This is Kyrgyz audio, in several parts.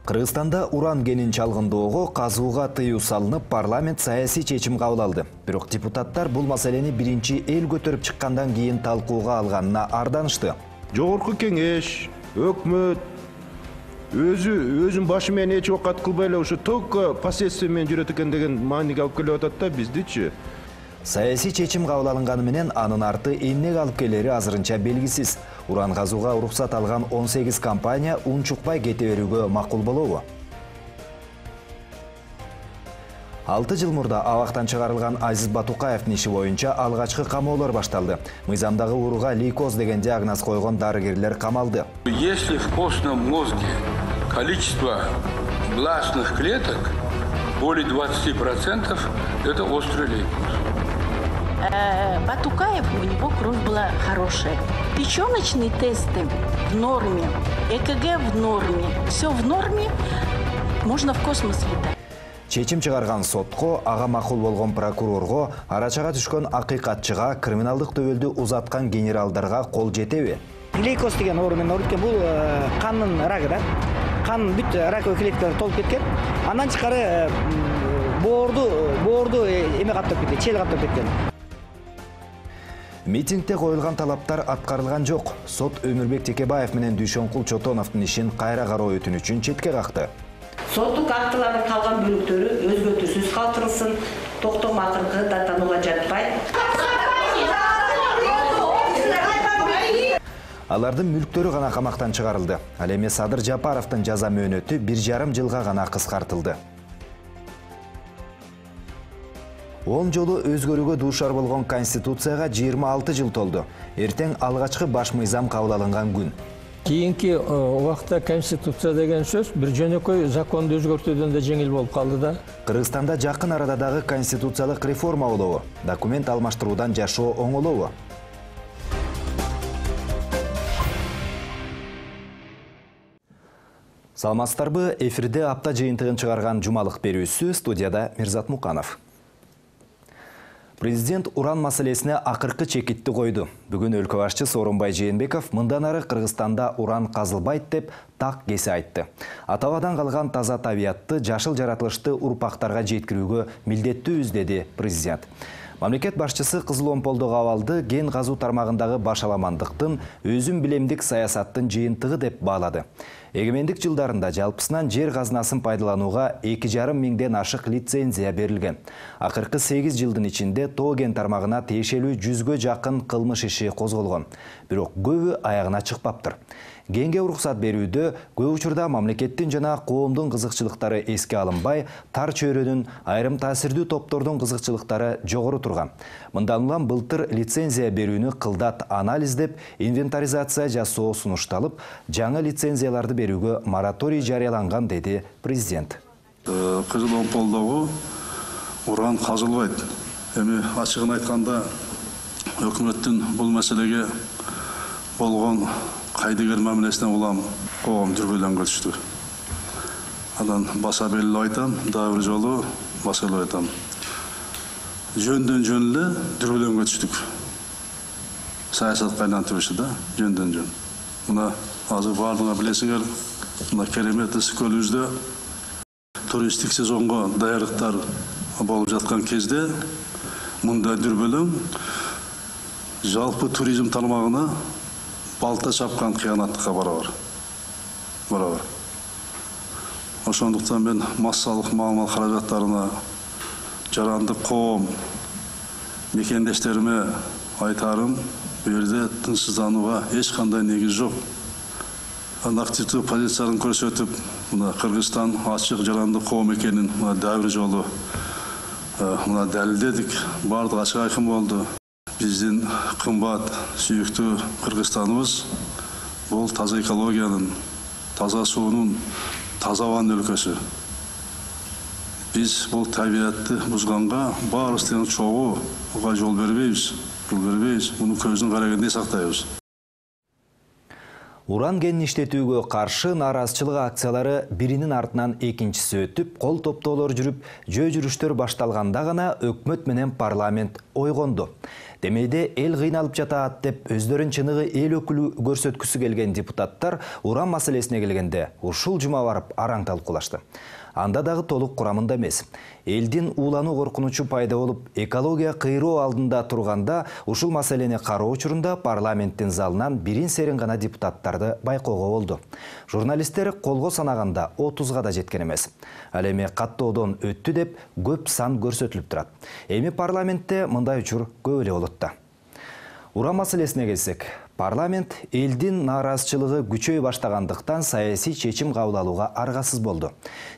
Кыргызстанда уран кенин чалгындоого казууга тыюу салынып, парламент саясий чечим кабыл алды. Бирок депутаттар бул маселени биринчи эл көтөрүп чыккандан кийин талкууга алганына арданышты. Жогорку кеңеш, өкмөт өзүн башы менен эч окат кылбай эле ушу только последствия менен жүрөт экен деген мааниге алып келип атат да биздичи. Саясий чечим кабыл алынганы менен анын арты эмнеге алып келери азырынча белгисиз. Уран казууга уруксат алган 18 компания унчукпай кете берүүгө макул болобу? 6 жыл мурда абактан чыгарылган Азиз Батукаевдин иши боюнча алгачкы камоолор башталды. Мыйзамдагы ооруга лейкоз деген диагноз койгон дарыгерлер камалды. Если в костном мозге количество бластных клеток более 20%, это острый лейкоз. Батукаев, у него кровь была хорошая. Печёночные тесты в норме, ЭКГ в норме. Все в норме, можно в космос летать. Чечим чыгарган сотко, ага макул болгон прокурорго, арачага түшкөн акыйкатчыга, криминалдык төбөлдү узаткан генералдарга кол жетеби? Лейкоз деген оору менен ооруп кеткен, бул кандын рагы да. Кан бүт раковый клеткалар толуп кеткен. Андан тышкары боорду эме каптап кеткен, чел каптап кеткен. Митингде коюлган талаптар аткарылган жок. Сот Өмүрбек Текебаев менен Дүйшөнкул Чотоновдун ишин кайра кароо өтүнүчүн четке какты. Соттук актылардын калган бөлүктөрү өзгөртүүсүз калтырылсын, токтом акыркы даттанууга жатпайт. Алардын мүлктөрү гана камактан чыгарылды. Ал эми Садыр Жапаровдун жаза мөөнөтү 1,5 жылга гана кыскартылды. 10 жолу өзгөрүүгө дуушар болгон Конституцияга 26 жыл толду. Эртең алгачкы баш мыйзам кабыл алынган күн. Кийинки убакта Конституция деген сөз бир жөнөкөй законду өзгөртүүдөн да жеңил болуп калды да. Кыргызстанда жакын арада дагы конституциялык реформа болобу? Документ алмаштыруудан жашоо оңолобу? Саламатсыздарбы? Эфирде апта жыйынтыгын чыгарган жумалык берүүсү, студияда Мирзат Муканов. Президент уран маселесине акыркы чекитти койду. Бүгүн өлкө башчысы Сооронбай Жээнбеков мындан ары Кыргызстанда уран казылбайт деп так кесе айтты. Атабадан калган таза табиятты, жашыл жаратылышты урпактарга жеткирүүгө милдеттүүбүз, деди президент. Мамлекет башчысы Кызыл Омполдогу абалды кен казуу тармагындагы башаламандыктын, өзүм билемдик саясаттын жыйынтыгы деп баалады. Эгемендик жылдарында жалпысынан жер казынасын пайдаланууга 2,5 миңден ашык лицензия берилген. Акыркы 8 жылдын ичинде тоо кен тармагына тиешелүү 100гө жакын кылмыш иши козголгон. Бирок көбү аягына чыкпаптыр. Кенге уруксат берүүдө көп учурда мамлекеттин жана коомдун кызыкчылыктары эске алынбай, тар чөйрөнүн, айрым таасирдүү топтордун кызыкчылыктары жогору турган. Мындан улам былтыр лицензия берүүнү кылдат анализдеп, инвентаризация жасоо сунушталып, жаңы лицензияларды берүүгө мораторий жарыяланган, деди президент. Кызыл Омполдогу уран казылбайт. Эми ачыгын айтканда, өкмөттүн бул маселеге болгон кайдыгер мамилесине улам коом дүрбөлөнгө түштү. Анан баса белгилеп айтам, дагы бир жолу баса белгилеп айтам. Жөндөн жөн эле дүрбөлөнгө түштүк. Саясатка айлантып да, жөндөн жөн. Мына азыр баардыгы билесиңер, мына керемет ысык көлүбүздө туристтик сезонго даярдыктар болуп жаткан кезде мындай дүрбөлөң жалпы туризм тармагына балта чапкан кыянаттыкка барабар. Ошондуктан мен массалык маалымат каражаттарына жарандык коом мекендештериме айтарым, бул жерде тынчсызданууга эч кандай негиз жок. Активдүү позицияларын көрсөтүп, мына Кыргызстан ачык жарандык коом экенин дагы бир жолу мына далилдедик. Бардыгы ачык айкын болду. Биздин кымбат, сүйүктүү Кыргызстаныбыз бул таза экологиянын, таза суунун, таза абанын өлкөсү. Биз бул табиятты бузганга баарыбыз тең чогууга жол бербейбиз. Муну көздүн карагандай сактайбыз. Уран кенин иштетүүгө каршы нааразычылык акциялары биринин артынан экинчиси өтүп, кол топтоолор жүрүп, жөө жүрүштөр башталганда гана өкмөт менен парламент ойгонду. Демейде эл кыйналып жатат деп өздөрүн чыныгы эл өкүлү көрсөткүсү келген депутаттар уран маселесине келгенде ушул жума барып араң талкуулашты. Анда дагы толук курамында эмес. Элдин уулануу коркунучу пайда болуп, экология кыйроо алдында турганда, ушул маселени кароо учурунда парламенттин залынан бирин серин гана депутаттарды байкоого болду. Журналисттер колго санаганда 30га да жеткен эмес. Ал эми каттоодон өттү деп көп сан көрсөтүлүп турат. Эми парламентте мындай учур көп эле болот да. Уран маселесине келсек, парламент элдин нааразычылыгы күчөй баштагандыктан саясий чечим кабыл алууга аргасыз болду.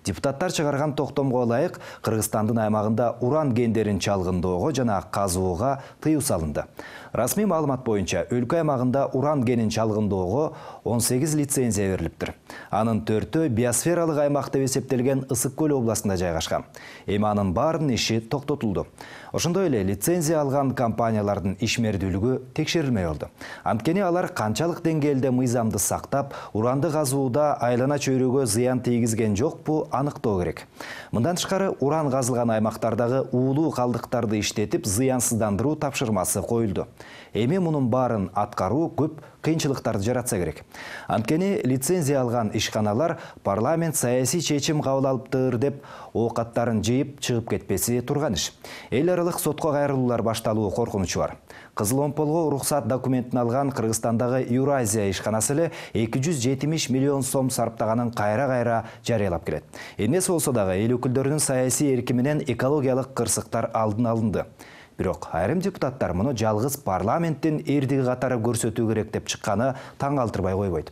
Депутаттар чыгарган токтомго ылайык Кыргызстандын аймагында уран кендерин чалгындоого жана казууга тыюу салынды. Расмий маалымат боюнча өлкө аймагында уран кенин чалгындоого 18 лицензия берилиптир. Анын 4-өө биосфералык аймак деп эсептелген Ысык көл областында жайгашкан. Эми анын баарынын иши токтотулду. Ошондой эле лицензия алган компаниялардын ишмердүүлүгү текшерилмей болду. Анткени алар канчалык деңгээлде мыйзамды сактап, уранды казууда айлана чөйрөгө зыян тийгизген жокпу аныктоо керек. Мындан тышкары уран казылган аймактардагы уулуу калдыктарды иштетип зыянсыздандыруу тапшырмасы коюлду. Эми мунун баарын аткаруу көп кыйынчылыктарды жаратса керек. Анткени лицензия алган ишканалар парламент саясий чечим кабыл алыптыр деп оокаттарын жыйып чыгып кетпеси турган иш. Эл аралык сотко кайрылуулар башталуу коркунучу бар. Кызыл омполго уруксат документин алган Кыргызстандагы Юразия ишканасы эле 270 миллион сом сарптаганын кайра-кайра жарыялап келет. Эмнеси болсо дагы эл өкүлдөрүнүн саясий эрки менен экологиялык кырсыктар алдын алынды. Бирок айрым депутаттар муну жалгыз парламенттин эрдиги катары көрсөтүү керек деп чыкканы таң калтырбай койбойт.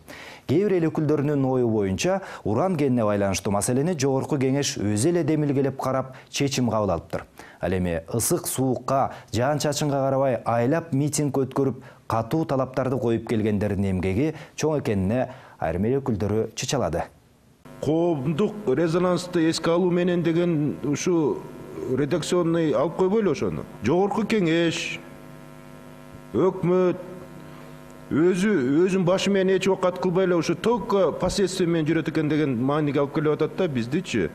Кээ бир эл өкүлдөрүнүн ою боюнча уран кенине байланыштуу маселени жогорку кеңеш өзү эле демилгелеп карап чечим кабыл алыптыр. Ал эми ысык суукка, жаан-чачынга карабай айлап митинг өткөрүп, катуу талаптарды коюп келгендердин эмгеги чоң экенине айрым эл өкүлдөрү чычалады. Коомдук резонансты эске алуу менен деген ушу редакционный алып койбойлу ошону. Жогорку кеңеш, өкмөт өзүн башы менен эч окат кылбай эле ушу только последствия менен жүрөт экен деген мааниге алып келип атат да. Биздичи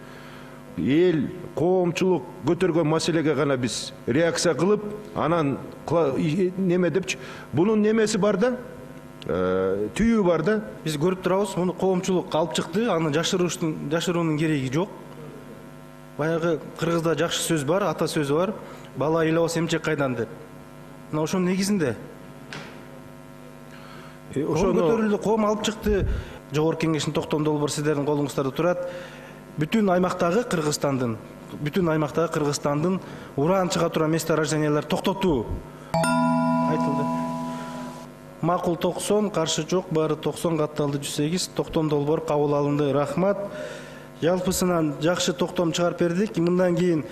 эл коомчулук көтөргөн маселеге гана биз реакция кылып, анан неме депчи, бунун немеси бар да, түйүү бар да. Биз көрүп турабыз, муну коомчулук алып чыкты, аны жашыруунун кереги жок. Баягы кыргызда жакшы сөз бар, ата сөзү бар, бала ыйлабаса эмчек кайдан деп. Мына ошонун негизинде ошону көтөрүлдү, коом алып чыкты. Жогорку кеңештин токтом долбоор сиздердин колуңуздарда турат. Бүтүн аймактагы Кыргызстандын уран чыга турган месторожденияларды токтотуу айтылды. Макул 90, каршы жок, баары 90, катталды 108, токтом долбоор кабыл алынды. Рахмат. Жалпысынан жакшы токтом чыгарып бердик. Мындан кийин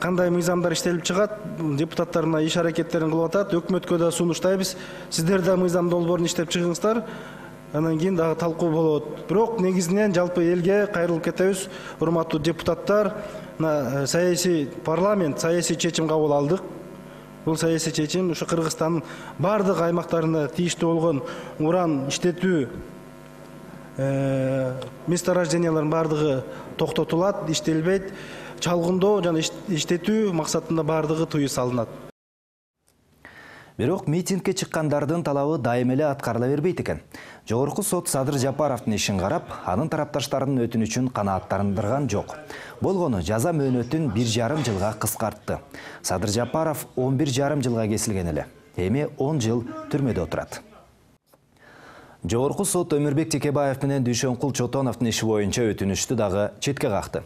кандай мыйзамдар иштелип чыгат, депутаттар мына иш аракеттерин кылып атат. Өкмөткө да сунуштайбыз. Сиздер да мыйзам долбоорун иштеп чыгыңыздар. Анан кийин дагы талкуу болот. Бирок негизинен жалпы элге кайрылып кетебиз. Урматтуу депутаттар, саясий парламент саясий чечим кабыл алдык. Бул саясий чечим ушу Кыргызстандын бардык аймактарында тийиштүү болгон уран иштетүү месторождениялардын бардыгы токтотулат, иштелбейт. Чалгындоо жана иштетүү максатында бардыгы тыюу салынат. Бирок митингке чыккандардын талабы дайым эле аткарыла бербейт экен. Жогорку сот Садыр Жапаровдун ишин карап, анын тарапташтарынын өтүнүчүн канааттандырган жок. Болгону жаза мөөнөтүн 1,5 жылга кыскартты. Садыр Жапаров 11,5 жылга кесилген эле. Эми 10 жыл түрмөдө отурат. Жогорку сот Өмүрбек Текебаев менен Дүйшөнкул Чотоновдун иши боюнча өтүнүштү дагы четке какты.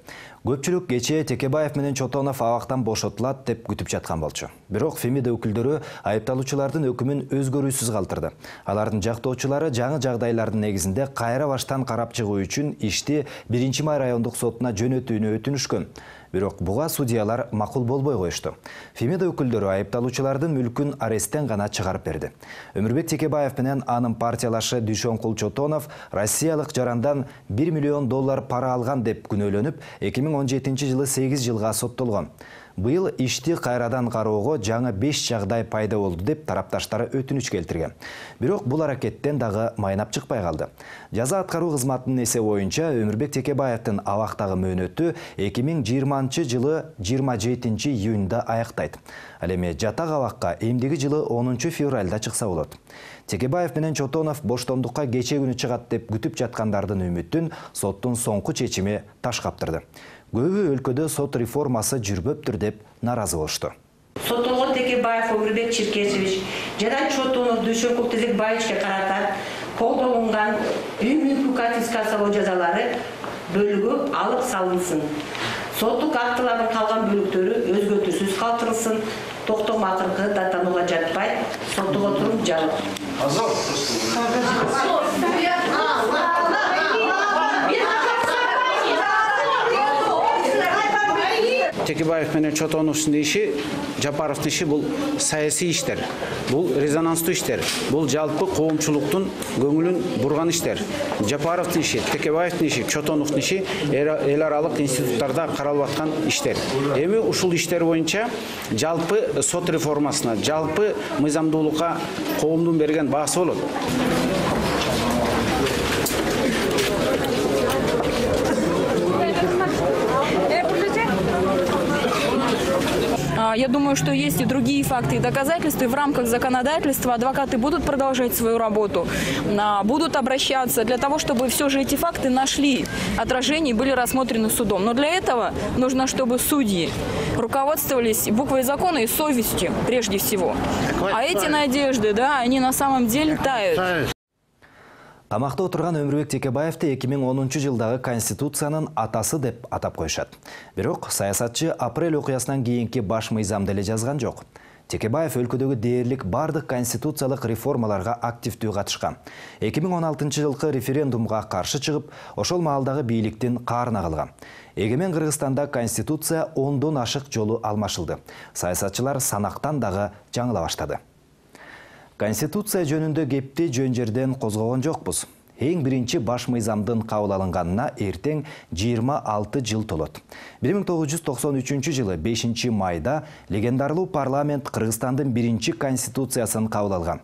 Көпчүлүк кечээ Текебаев менен Чотонов абактан бошотулат деп күтүп жаткан болчу. Бирок Фемида өкүлдөрү айыпталуучулардын өкүмүн өзгөрүүсүз калтырды. Алардын жактоочулары жаңы жагдайлардын негизинде кайра баштан карап чыгуу үчүн ишти 1-май райондук сотуна жөнөтүүнү өтүнүшкөн. Бирок буга судьялар макул болбой коюшту. Фемида өкүлдөрү айыпталуучулардын мүлкүн аресттен гана чыгарып берди. Өмүрбек Текебаев менен анын партиялашы Дүйшөнкул Чотонов Россиялык жарандан $1 миллион пара алган деп күнөөлөнүп, 2017 жылы 8 жылга соттолгон. Быйыл ишти кайрадан кароого жаңы 5 жагдай пайда болду деп тарапташтары өтүнүч келтирген. Бирок бул аракеттен дагы майнап чыкпай калды. Жаза аткаруу кызматынын эсеби боюнча Өмүрбек Текебаевдин абактагы мөөнөтү 2020-жылы 27 июнда аяктайт. Ал эми жатак абакка эмдиги жылы 10 февралда чыкса болот. Текебаев менен Чотонов боштондукка кечээ күнү чыгат деп күтүп жаткандардын үмүтүн соттун соңку чечими таш каптырды. Көбү өлкөдө сот реформасы жүрбөптүр деп наразы болушту. Соттолгон Текебаев Өмүрбек Чиркесович жана Чотонов Дүйшөнкул Тезекбаевичке карата колдонулган үмүмкү конфискациялоо жазалары бөлүгү алып салынсын. Соттук актылардын калган бөлүктөрү өзгөртүүсүз калтырылсын. Токтом акыркы даттанууга жатпай, соттук отуруп жабык. Текебаев менен Чотоновдун иши, Жапаровдун иши бул саясий иштер, бул резонанстуу иштер, бул жалпы коомчулуктун көңүлүн бурган иштер. Жапаровдун иши, Текебаевдин иши, Чотоновдун иши эл аралык институттарда каралып аткан иштер. Эми ушул иштер боюнча жалпы сот реформасына, жалпы мыйзамдуулукка коомдун берген баасы болот. Я думаю, что есть и другие факты и доказательства. И в рамках законодательства адвокаты будут продолжать свою работу, будут обращаться для того, чтобы все же эти факты нашли отражение и были рассмотрены судом. Но для этого нужно, чтобы судьи руководствовались буквой закона и совестью прежде всего. А эти надежды, да, они на самом деле тают. Камакта отурган Өмүрбек Текебаевди 2010 жылдагы Конституциянын атасы деп атап коюшат. Бирок саясатчы апрель окуясынан кийинки баш мыйзамды эле жазган жок. Текебаев өлкөдөгү дээрлик бардык конституциялык реформаларга активдүү катышкан. 2016 жылкы референдумга каршы чыгып, ошол маалдагы бийликтин каарына калган. Эгемен Кыргызстанда конституция 10дон ашык жолу алмашылды. Саясатчылар санактан дагы жаңыла баштады. Конституция жөнүндө кепти жөн жерден козгогон жокпуз. Эң биринчи баш мыйзамдын кабыл алынганына эртең 26 жыл толот. 1993 жылы 5 майда легендарлуу парламент Кыргызстандын биринчи конституциясын кабыл алган.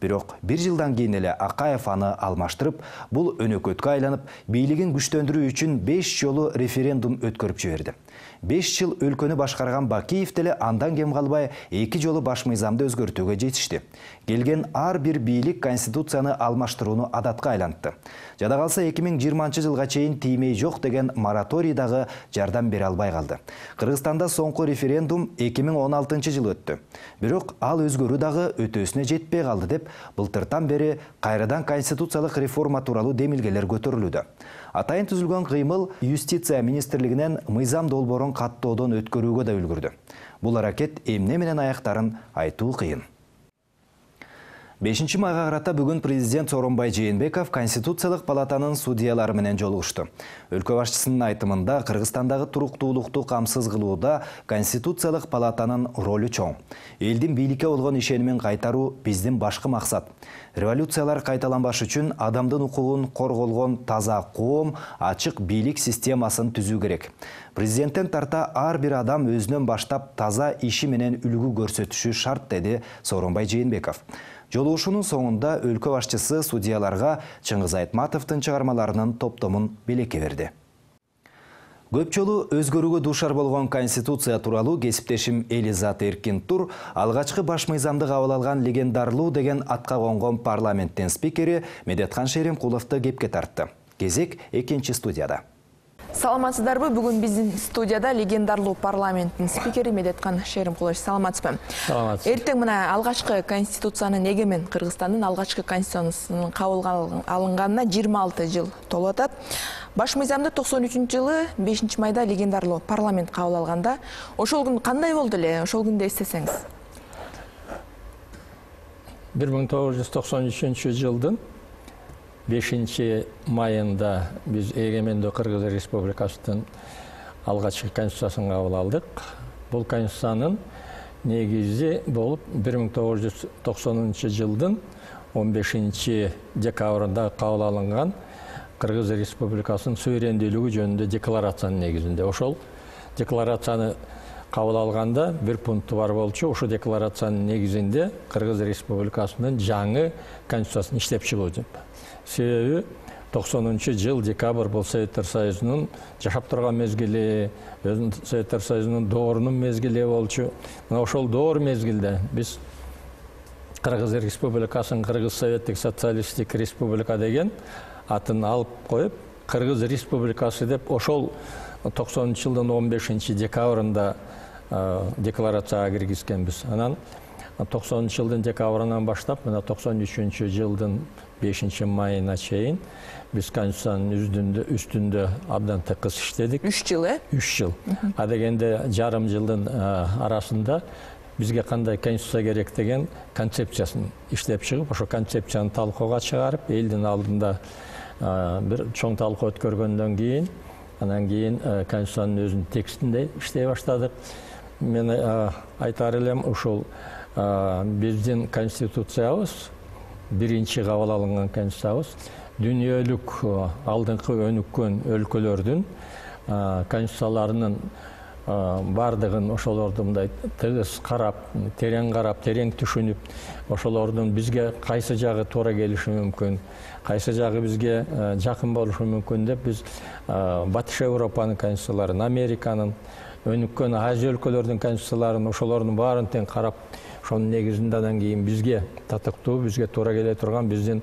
Бирок бир жылдан кийин эле Акаев аны алмаштырып, бул өнөкөткө айланып, бийлигин күчтөндүрүү үчүн 5 жолу референдум өткөрүп жиберди. 5 жыл өлкөнү башкарган Бакиев деле андан кем калбай 2 жолу баш мыйзамды өзгөртүүгө жетишти. Келген ар бир бийлик конституцияны алмаштырууну адатка айлантты. Жада калса 2020 жылга чейин тиймей жок деген мораторий дагы жардам бере албай калды. Кыргызстанда соңку референдум 2016 жылы өттү. Бирок ал өзгөрүү дагы өтөөсүнө жетпей калды деп былтыртан бери кайрадан конституциялык реформа тууралуу демилгелер көтөрүлүүдө. Атайын түзүлгөн кыймыл юстиция министрлигинен мыйзам долбоорун каттоодон өткөрүүгө да үлгүрдү. Бул аракет эмне менен аяктарын айтуу кыйын. 5 майга карата бүгүн президент Сооронбай Жээнбеков Конституциялык палатанын судьялары менен жолугушту. Өлкө башчысынын айтымында Кыргызстандагы туруктуулукту камсыз кылууда Конституциялык палатанын ролу чоң. Элдин бийликке болгон ишенимин кайтаруу биздин башкы максат. Революциялар кайталанбаш үчүн адамдын укугун корголгон таза коом, ачык бийлик системасын түзүү керек. Президенттен тарта ар бир адам өзүнөн баштап таза иши менен үлгү көрсөтүшү шарт, деди Сооронбай Жээнбеков. Жолугушуунун соңунда өлкө башчысы судьяларга Чыңгыз Айтматовдун чыгармаларынын топтомун белекке берди. Көп жолу өзгөрүүгө дуушар болгон Конституция тууралуу кесиптешим Элизат Эркин-Тур алгачкы баш мыйзамды кабыл алган легендарлуу деген атка конгон парламенттин спикери Медеткан Шеримкуловду кепке тартты. Кезек экинчи студияда. Саламатсыздарбы? Бүгүн биздин студияда легендарлуу парламенттин спикери Медеткан Шеримкулович. Саламатсызбы? Саламатсыз. Эртең мына алгачкы конституциянын, эгемен Кыргызстандын алгачкы конституциясынын кабыл алынганына 26 жыл толуп атат. Баш мыйзамды 93-жылы 5 майда легендарлуу парламент кабыл алганда, ошол күн кандай болду эле? Ошол күндү эстесеңиз. 1993 жылдын 5 майында биз эгемендүү Кыргыз Республикасынын алгачкы конституциясын кабыл алдык. Бул конституциянын негизи болуп 1990 жылдын 15 декабрында кабыл алынган Кыргыз Республикасынын суверендүүлүгү жөнүндө декларациянын негизинде. Ошол декларацияны кабыл алганда бир пункту бар болчу. Ушул декларациянын негизинде Кыргыз Республикасынын жаңы конституциясын иштеп чыгуу деп. Себеби 90-жыл декабрь бул Советтер Союзунун жашап турган мезгили, Советтер Союзунун доорунун мезгили болчу. Мына ошол доор мезгилде биз Кыргыз Республикасын Кыргыз Советтик Социалисттик Республика деген атын алып коюп, Кыргыз Республикасы деп ошол 90-жылдын 15-декабрында декларацияга киргизгенбиз. Анан 90-жылдын декабрынан баштап, мына 93-жылдын 5-майына чейин биз конституциянын үстүндө абдан тыкыз иштедик. 3 жыл, 3 жыл. А дегенде жарым жылдын арасында бизге кандай конституция керек деген концепциясын иштеп чыгып, ошо концепцияны талкууга чыгарып, элдин алдында бир чоң талкуу өткөргөндөн кийин, анан кийин конституциянын өзүнүн текстинде иштей баштадык. Мен айтар элем, ушул биздин конституциябыз, биринчи кабыл алынган конституциябыз дүйнөлүк алдыңкы өнүккөн өлкөлөрдүн конституцияларынын бардыгын ошолорду мындай тыгыз карап, терең түшүнүп, ошолордун бизге кайсы жагы туура келиши мүмкүн, кайсы жагы бизге жакын болушу мүмкүн деп биз Батыш Европанын конституцияларын, Американын, өнүккөн Азия өлкөлөрдүн конституцияларын, ошолордун баарын тең карап, ошонун негизинде анан кийин бизге татыктуу, бизге туура келе турган биздин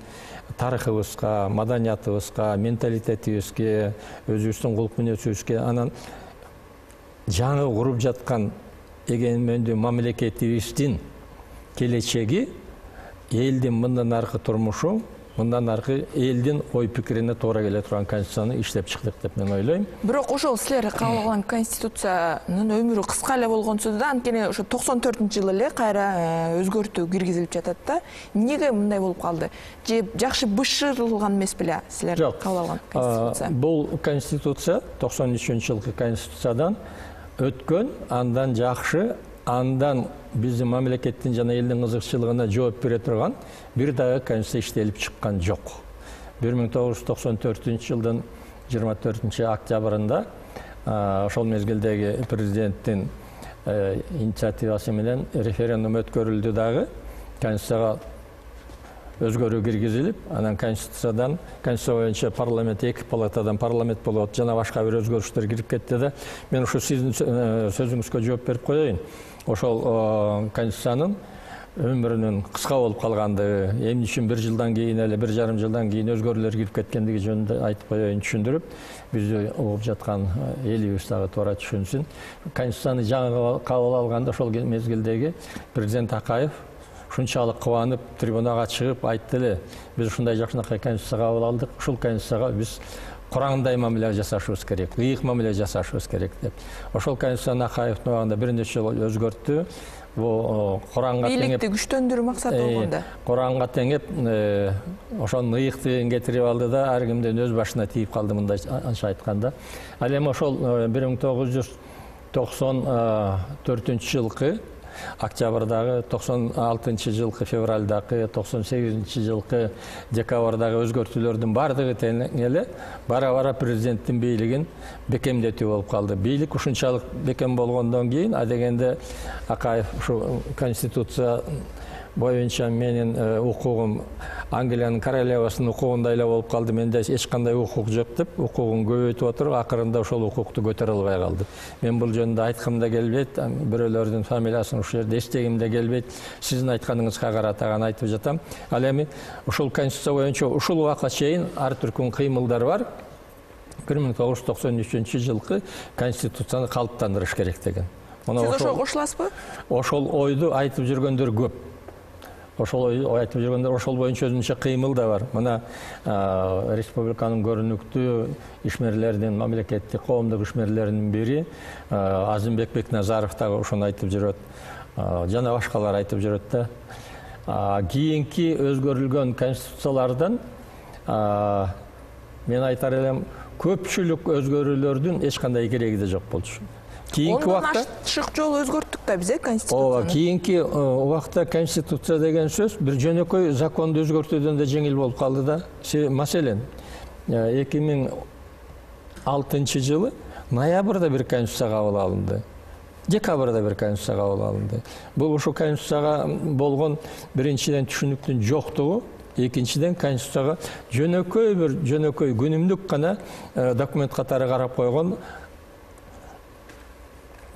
тарыхыбызга, маданиятыбызга, менталитетибизге, өзүбүздүн кулуп мүнөзүбүзгө, анан жаңы куруп жаткан эгемендүү мамлекетибиздин келечеги, элдин мындан аркы турмушу, мындан аркы элдин ой пикирине туура келе турган конституцияны иштеп чыктык деп мен ойлойм. Бирок ошол силер кабыл алган конституциянын өмүрү кыска эле болгонсуз да, анткени ошо 94-жылы эле кайра өзгөртүү киргизилип жатат да. Эмнеге мындай болуп калды? Же жакшы бышырылган эмес беле силер кабыл алган конституция? Бул конституция 93-жылкы конституциядан өткөн, андан жакшы, андан биздин мамлекеттин жана элдин кызыкчылыгына жооп бере турган бир дагы конституция иштелип чыккан жок. 1994-жылдын 24-октябрында ошол мезгилдеги президенттин инициативасы менен референдум өткөрүлдү дагы, конституцияга өзгөрүү киргизилип, анан конституция боюнча парламент 2 палатадан парламент болот, жана башка бир өзгөрүштөр кирип кетти да. Мен ушу сиздин сөзүңүзгө жооп берип коеюн. Ошол конституциянын өмүрүнүн кыска болуп калгандыгы, эмне үчүн 1 жылдан кийин эле 1,5 жылдан кийин өзгөрүүлөр кирип кеткендиги жөнүндө айтып коеюн, түшүндүрүп, бизди угуп жаткан элибиз дагы туура түшүнсүн. Конституцияны жаңы кабыл алганда ошол мезгилдеги президент Акаев ушунчалык кубанып, трибунага чыгып айтты эле, биз ушундай жакшынакай конституция кабыл алдык, ушул конституцияга биз Курандай мамиле жасашыбыз керек, ыйык мамиле жасашыбыз керек деп. Ошол конституцияны Акаевдин убагында бир нече жолу өзгөрттү. Бул Куранга теңеп, бийликти күчтөндүрүү максаты болгондо. Куранга теңеп, ошонун ыйыктыгын кетирип алды да, ар кимдин өз башына тийип калды, мындайча айтканда. Ал эми ошол 1994-жылкы октябрдагы, 96-жылкы февралдагы, 98-жылкы декабрдагы өзгөртүүлөрдүн бардыгы тең эле бара-бара президенттин бийлигин бекемдетүү болуп калды. Бийлик ушунчалык бекем болгондон кийин, адегенде Акаев ушу конституция боюнча менин укугум Англиянын королевасынын укугундай эле болуп калды, менде эч кандай укук жок деп, укугун көбөйтүп отуруп, акырында ошол укукту көтөрө албай калды. Мен бул жөнүндө айткым да келбейт, бирөөлөрдүн фамилиясын ушул жерде эстегим да келбейт. Сиздин айтканыңызга карата гана айтып жатам. Ал эми ушул конституция боюнча ушул убакка чейин ар түркүн кыймылдар бар. 1993-жылкы конституцияны калыптандырыш керек деген. Сиз ошого кошуласызбы? Ошол ойду айтып жүргөндөр көп. Ошол айтып жүргөндөр ошол боюнча өзүнчө кыймыл да бар. Мына республиканын көрүнүктүү ишмерлеринин, мамлекеттик коомдук ишмерлеринин бири Азымбек Бекназаров дагы ошону айтып жүрөт. Жана башкалар айтып жүрөт да. Кийинки өзгөрүлгөн конституциялардан мен айтар элем, көпчүлүк өзгөрүүлөрдүн эч кандай кереги да жок болчу. Кийинки убакта ашык жолу өзгөрттүк да биз конституцияны. Кийинки убакта конституция деген сөз бир жөнөкөй законду өзгөртүүдөн да жеңил болуп калды да. Маселен, 2006-жылы ноябрда бир конституция кабыл алынды. Декабрда бир конституция кабыл алынды. Бул ушул конституцияга болгон биринчиден түшүнүктүн жоктугу, экинчиден конституцияга жөнөкөй күнүмдүк гана документ катары карап койгон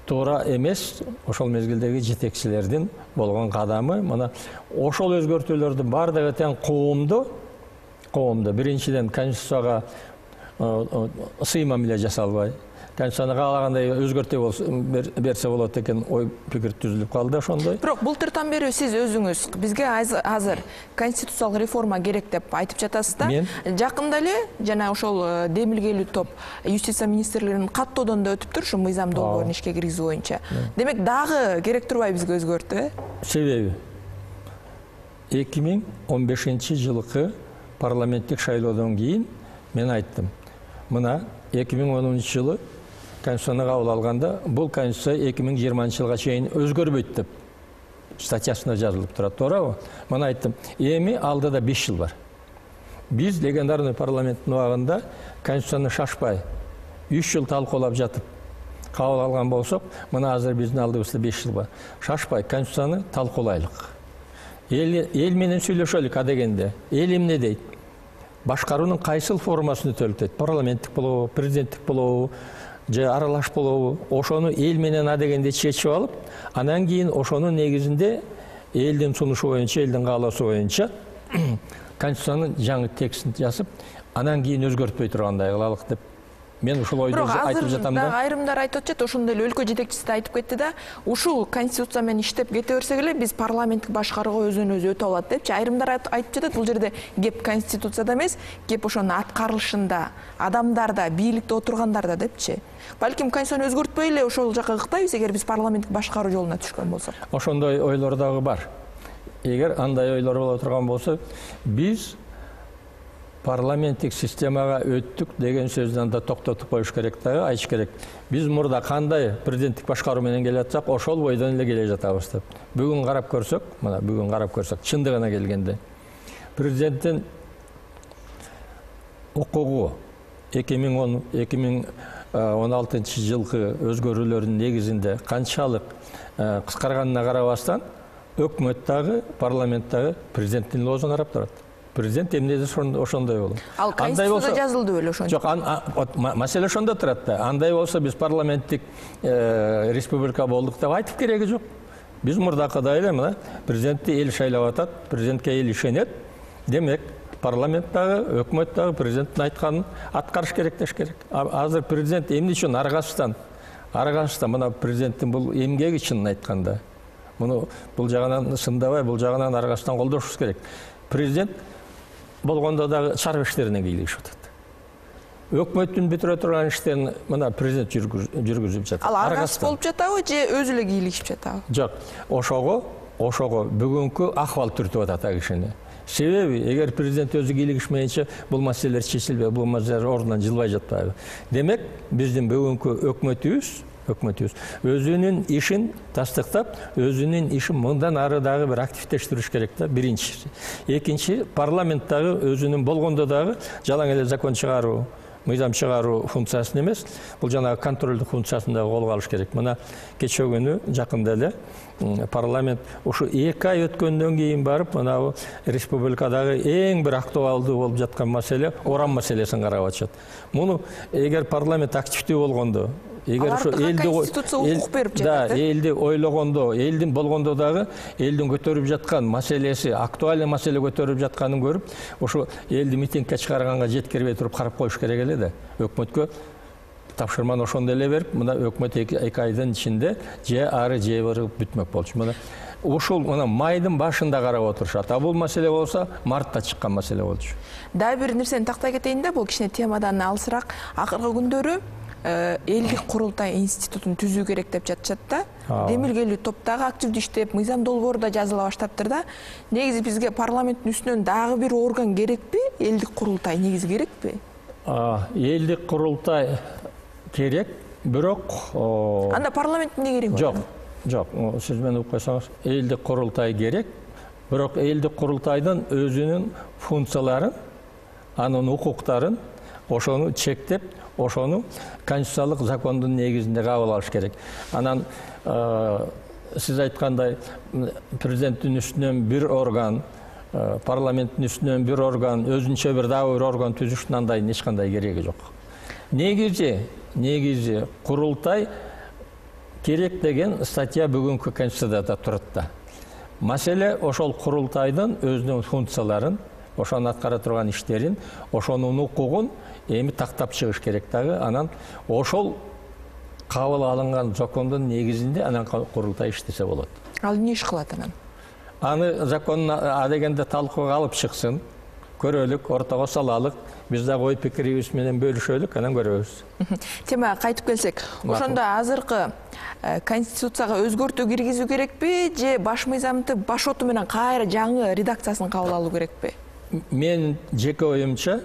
туура эмес ошол мезгилдеги жетекчилердин болгон кадамы. Мына ошол өзгөртүүлөрдүн бардыгы тең коомдо биринчиден конституцияга сыймам эле жасалбай, конституцияны каалагандай өзгөртө берсе болот экен ой пикир түзүлүп калды ошондой. Бирок былтыртан бери сиз өзүңүз бизге азыр конституциялык реформа керек деп айтып жатасыз да. Жакында эле жана ошол демилгелүү топ юстиция министрлигинин каттоодон да өтүптүр ушу мыйзам долбоорун ишке киргизүү боюнча. Демек дагы керек турбайбы бизге өзгөртүү? Себеби 2015-жылкы парламенттик шайлоодон кийин мен айттым. Мына 2010-жылы конституцияны кабыл алганда бул конституция 2020-жылга чейин өзгөрбөйт деп статьясында жазылып турат, тоорабы? Мына айттым, эми алдыда 5 жыл бар. Биз легендарный парламенттин убагында конституцияны шашпай 3 жыл талкуулап жатып кабыл алган болсок, мына азыр биздин алдыбызда 5 жыл бар. Шашпай конституцияны талкуулайлык. Эл менен сүйлөшөлүк адегенде. Эл эмне дейт? Башкаруунун кайсыл формасын өтөлтөйт? Парламенттик болобу, президенттик болобу, же аралаш болобу? Ошону эл менен адегенде чечип алып, анан кийин ошонун негизинде элдин сунушу боюнча, элдин каалоосу боюнча конституциянын жаңы текстин жазып, анан кийин өзгөртпөй тургандай кылалык деп мен ушул ойду айтып жатам да. Бирок азыр айрымдар айтып атат, ошондой эле өлкө жетекчиси да айтып кетти да, ушул конституция менен иштеп кете берсек эле биз парламенттик башкарууга өзүнөн өзү өтө алат депчи. Айрымдар айтып жатат, бул жерде кеп конституцияда эмес, кеп ошонун аткарылышында, адамдарда, бийликте отургандарда депчи. Балким конституцияны өзгөртпөй эле ошол жака ыктайбыз, эгер биз парламенттик башкаруу жолуна түшкөн болсок. Ошондой ойлор дагы бар. Эгер андай ойлор боло турган болсо, биз парламенттик системага өттүк деген сөздөн да токтотуп коюш керек дагы, айтыш керек. Биз мурда кандай президенттик башкаруу менен келе жатсак, ошол бойдон эле келе жатабыз деп. Бүгүн карап көрсөк, мына бүгүн карап көрсөк, чындыгына келгенде президенттин укугу 2016-жылкы өзгөрүүлөрдүн негизинде канчалык кыскарганына карабастан, өкмөт дагы, парламент дагы президенттин лоозун карап турат. Президент эмне десе ошондой болот. Ал конституцияда жазылды беле ошончо? Жок, маселе ошондо турат да. Андай болсо биз парламенттик республика болдук деп айтып кереги жок. Биз мурдакыдай эле мына президентти эл шайлап атат, президентке эл ишенет. Демек, парламент дагы, өкмөт дагы президенттин айтканын аткарыш керек деш керек. Азыр президент эмне үчүн аргасыздан мына президенттин бул эмгеги чынын айтканда. Муну бул жагынан сындабай, бул жагынан аргасыздан колдошубуз керек. Президент болгондо дагы чарба иштерине кийлигишип атат. Өкмөттүн бүтүрө турган иштерин мына президент жүргүзүп жатат. Ал аргасыз болуп жатабы же өзү эле кийлигишип жатабы? Жок, ошого бүгүнкү акыбал түртүп атат а кишини. Себеби, эгер президент өзү кийлигишмейинче бул маселелер чечилбей, бул маселелер ордунан жылбай жатпайбы. Демек, биздин бүгүнкү өкмөтүбүз өзүнүн ишин тастыктап, өзүнүн ишин мындан ары дагы бир активдештириш керек да, биринчиси. Экинчи, парламент дагы өзүнүн болгондо дагы жалаң эле закон чыгаруу, мыйзам чыгаруу функциясын эмес, бул жанагы контролдук функциясын дагы колго алыш керек. Мына кечээ күнү жакында эле парламент ушу 2 ай өткөндөн кийин барып, мына республикадагы эң бир актуалдуу болуп жаткан маселе уран маселесин карап атышат. Муну эгер парламент активдүү болгондо, эгер ошо элди ойлогондо, элдин болгондо дагы элдин көтөрүп жаткан маселеси, актуалдуу маселе көтөрүп жатканын көрүп, ошо элди митингге чыгарганга жеткирбей туруп карап коюш керек эле да. Өкмөткө тапшырманы ошондой эле берип, мына өкмөт 2 айдын ичинде же ары же бери бүтмөк болчу. Мына ушул майдын башында карап отурушат. А бул маселе болсо мартта чыккан маселе болчу. Дагы бир нерсени тактай кетейин да, бул кичине темадан алысыраак. Акыркы күндөрү элдик курултай институтун түзүү керек деп жатышат да. Демилгелүү топтогу активдүү иштеп, мыйзам долбоору да жазыла баштаптыр да. Негизи бизге парламенттин үстүнөн дагы бир орган керекпи? Элдик курултай негизи керекпи? Элдик курултай керек, бирок анда парламенттин эмне кереги бар? Жок, сиз мени угуп койсоңуз, элдик курултай керек, бирок элдик курултайдын өзүнүн функцияларын, анын укуктарын ошону чектеп, ошону конституциялык закондун негизинде кабыл алыш керек. Анан сиз айткандай президенттин үстүнөн бир орган, парламенттин үстүнөн бир орган, өзүнчө бир дагы бир орган түзүштүн андай эч кандай кереги жок. Негизи курултай керек деген статья бүгүнкү конституцияда турат да. Маселе ошол курултайдын өзүнүн функцияларын, ошону аткара турган иштерин, ошонун укугун эми тактап чыгыш керек дагы. Анан ошол кабыл алынган закондун негизинде анан курултай иштесе болот. Ал эмне иш кылат анан? Аны законун дегенде талкууга алып чыксын, көрөлүк, ортого салалык, биз дагы ой пикирибиз менен бөлүшөлүк, анан көрөбүз. Темага кайтып келсек, ошондо азыркы конституцияга өзгөртүү киргизүү керекпи же баш мыйзамды баш оту менен кайра жаңы редакциясын кабыл алуу керекпи? Мен жеке оюмча